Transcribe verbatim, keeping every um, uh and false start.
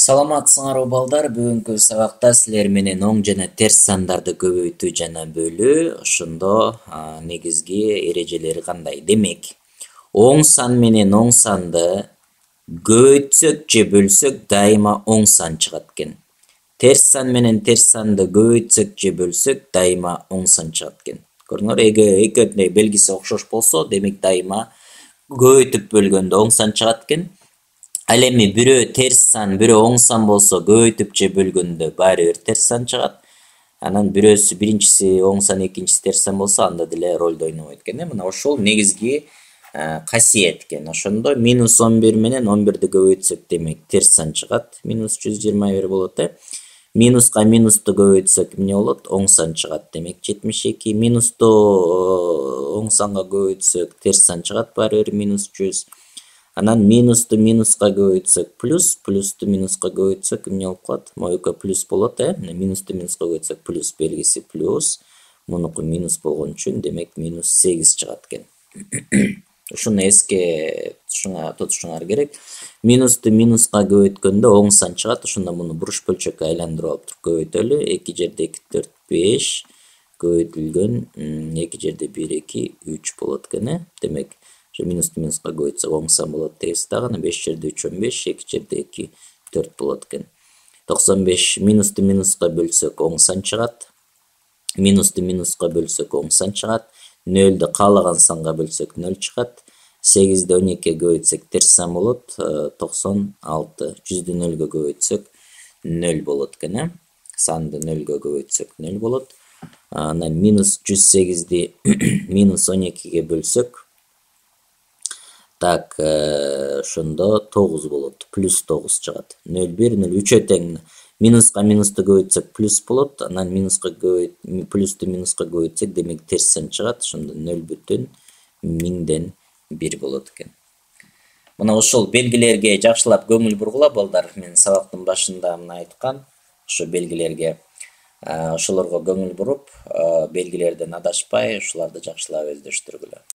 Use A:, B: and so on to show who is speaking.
A: Саламатсыңарбы балдар, бүгүнкү сабакта силер менен оң жана терс сандарды көбөйтүү жана бөлүү ошондо а, негизги эрежелери кандай? Демек, оң сан менен оң санды көбөйтсөк же бөлсөк дайыма оң сан чыгат экен. Терс сан менен терс санды көбөйтсөк же бөлсөк дайыма оң сан чыгат экен. Көрдүңөр, эгер экөөнүн белгиси окшош болсо, демек дайыма көбөйтүп бөлгөндө оң сан чыгат экен. Ал эми бирөө терс сан, бирөө оң сан болсо, көбөйтүп же бөлгөндө баары бир терс сан чыгат. Анан бирөөсү биринчиси оң сан, экинчиси терс сан болсо, анда деле ролду ойнобойт экен. Мына ошол негизги касиет экен. Ошондо минус он бир менен он бирди көбөйтсөк, демек терс сан чыгат. минус жүз жыйырма бир болот, э. Минуска минусту көбөйтсөк эмне болот? Оң сан чыгат. Демек жетимиш эки. Минусту оң санга көбөйтсөк терс сан чыгат, баары бир минус жүз. Анан минусту минуска көбөйтсөк плюс, плюсту минуска көбөйтсөк эмне болуп калат? Моюка плюс болот, э. Минусту минуска көбөйтсөк плюс, белгиси плюс. Мунуку минус болгон үчүн, демек минус сегиз чыгат экен. Ушуну эске тутушуңар керек. Минусту минуска көбөйткөндө оң сан чыгат. Ошондо муну буруш бөлчөккө айландырып алып туруп көбөйтөлү. эки жерде эки, төрт, беш көбөйтүлгөн эки жерде бир, эки, үч болот экен, э. Демек минусту минуска көбөйтсөк оң сан болот дейбиз дагы. беш жерде үч он беш, эки жерде эки, төрт болот экен. токсон беш минусту минуска бөлсөк оң сан чыгат. Минусту минуска бөлсөк оң сан чыгат. нөлдү каалаган санга бөлсөк нөл чыгат. сегизди он экиге көбөйтсөк терс сан болот, токсон алты. жүздү нөлгө көбөйтсөк нөл болот экен, э. Санды нөлгө көбөйтсөк нөл болот. Анан минус жүз сегизди минус он экиге бөлсөк, так, ошондо тогуз болот, плюс тогуз чыгат. нөл бир, нөл үчөө тең. Минуска минусту көбөйтсөк плюс болот, анан минуска көбөйт, плюсту минуска көбөйтсөк, демек терс сан чыгат. Ошондо нөл бүтүн миңден бир болот экен. Мына ошол белгилерге жакшылап көңүл бургула балдар. Мен сабактын башында мына айткан ошо белгилерге, ошолорго көңүл буруп, белгилерден адашпай, ушуларды жакшылап өздөштүргүлө.